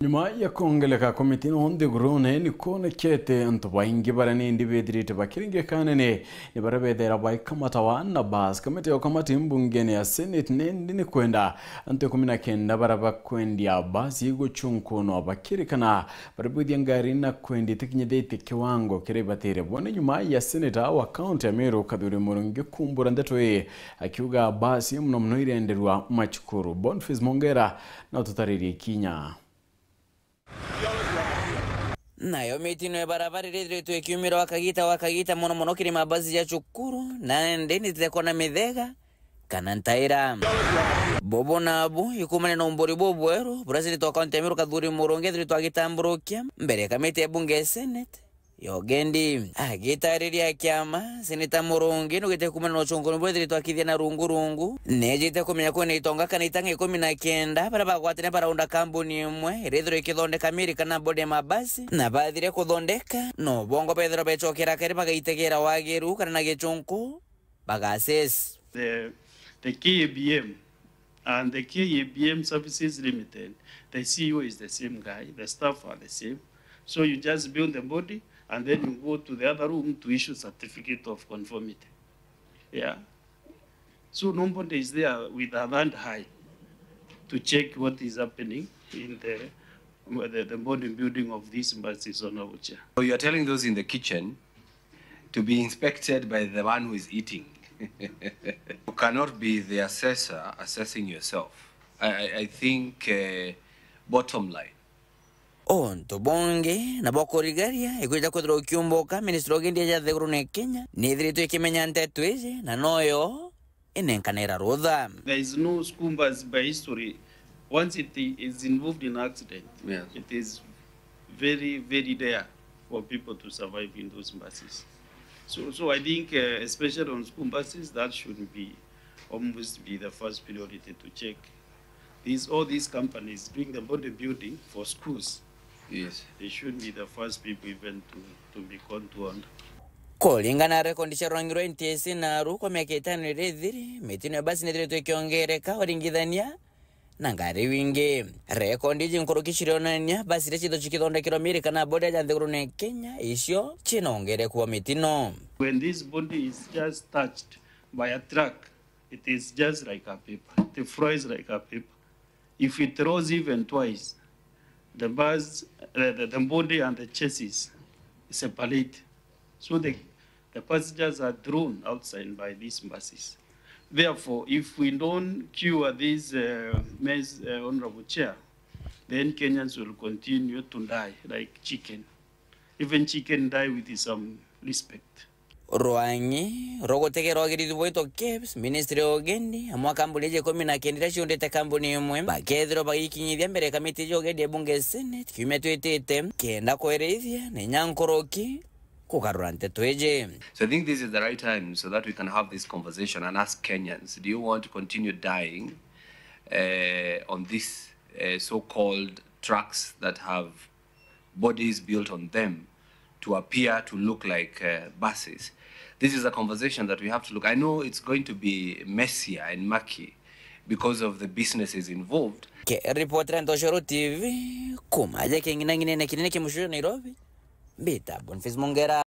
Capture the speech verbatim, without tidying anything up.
Nyuma ya kwongeleka kwa mitino nthigurune, ni kwonekete antu baingi baria nindi bethirite bakiringikana ni, ni baria bethera baikamatawa na basi. Kamiti ya ukamati mbungene ya Senate nindi ni kwenda antu ikumi na kenda baria bakwendia basi iguchunkunwa bakirikana baria bwithia ngari na kwendia itikinyithitie kiwango kiria ibatire. Bo ni nyuma ya seneta wa kaunti ya Meru Kathuri Murungi kumbura ndeto ii akiuga basi muno muno irenderwa macukuru. Boniface Mongera na ututaririe kinya. Nayo mitino ya barabara iria ithiritwe ikiumira wa kagita wa kagita, mono mono kiri mabasi ja cukuru, na ndi nitite kwona mithega kana ntaira. Bubu nabu ikumania na umburi bubweru buria seneta wa kaunti ya Meru Kathuri Murungi ethiritwe agitamburukia mbere ya kamiti ya bunge ya Senate ya ugendi. Agitariria kiama, seneta Murungi nugite kumania na uchunguni buria ethiritwe akithia na rungu rungu, nejite kumenya kwina itonga kana itanga ikumi na kenda baria bagwatania baraunda kambuni imwe iria ithirwa ikithondeka miri kana bodi ya mabasi, na bathire kuthondeka, no bongo bethirwa becokera kari bagaitegera wagiru kana na gichunku, bagases. The, the K A B M and the K A B M Services Limited, the C E O is the same guy, the staff are the same. So you just build the body and then you go to the other room to issue certificate of conformity. Yeah. So nobody is there with a hand high to check what is happening in the, the, the body building of these buses on our chair. So you are telling those in the kitchen to be inspected by the one who is eating. You cannot be the assessor assessing yourself. I, I, I think, uh, bottom line. Untu bungi nabo kurigaria ikwija kwithirwa ukiumbuka ministry ugendi ya jathiguru ni Kenya nithiritwe ikimenya nteto iji na noyo inenkanira rutha. There is no school bus by history. Once it is involved in accident, yes, it is very, very rare for people to survive in those buses. So, so I think, uh, especially on school buses, that should be almost be the first priority to check. These, all these companies doing the body building for schools, yes, they should be the first people even to, to be called to order. Kuringana na rekondi cia rwangi rwa N T S A naru, kwa miaka itano iria ithiri, mitino ya basi nithiritwe ikiongereka uringithania na ngari wingi. Rekondi iji nkuruki cirionania basi iria cithirwa cikithondekerwa miri kana bodi ya nthigurune Kenya, icio ciina ongereku wa mitino. When this body is just touched by a truck, it is just like a paper. It flies like a paper. If it rolls even twice, the bus, uh, the, the body and the chassis separate. So the, the passengers are thrown outside by these buses. Therefore, if we don't cure this, uh, mess, uh, Honorable Chair, then Kenyans will continue to die like chicken. Even chicken die with some respect. Rwangi rwa gutegera wagirithi bwitwa KEBS, ministry ya ugendi, amwe a kambuni iji ikumi na kenda iria ciundite kambuni imwe, bakethirwa bagikinyithia mbere ya kamiti ya ugendi ya bunge ya Senate kiumia twitite, kenda kwerithia na inya nkuruki kugarura nteto iji. So I think this is the right time so that we can have this conversation and ask Kenyans, do you want to continue dying, eh, on this, eh, so-called trucks that have bodies built on them to appear to look like, uh, buses? This is a conversation that we have to look. I know it's going to be messier and murky because of the businesses involved. Ke ripotera Ntoshoro T V, kuma aja king'inang'inene kinene kia mucii Nairobi, mbita Boniface Mongera.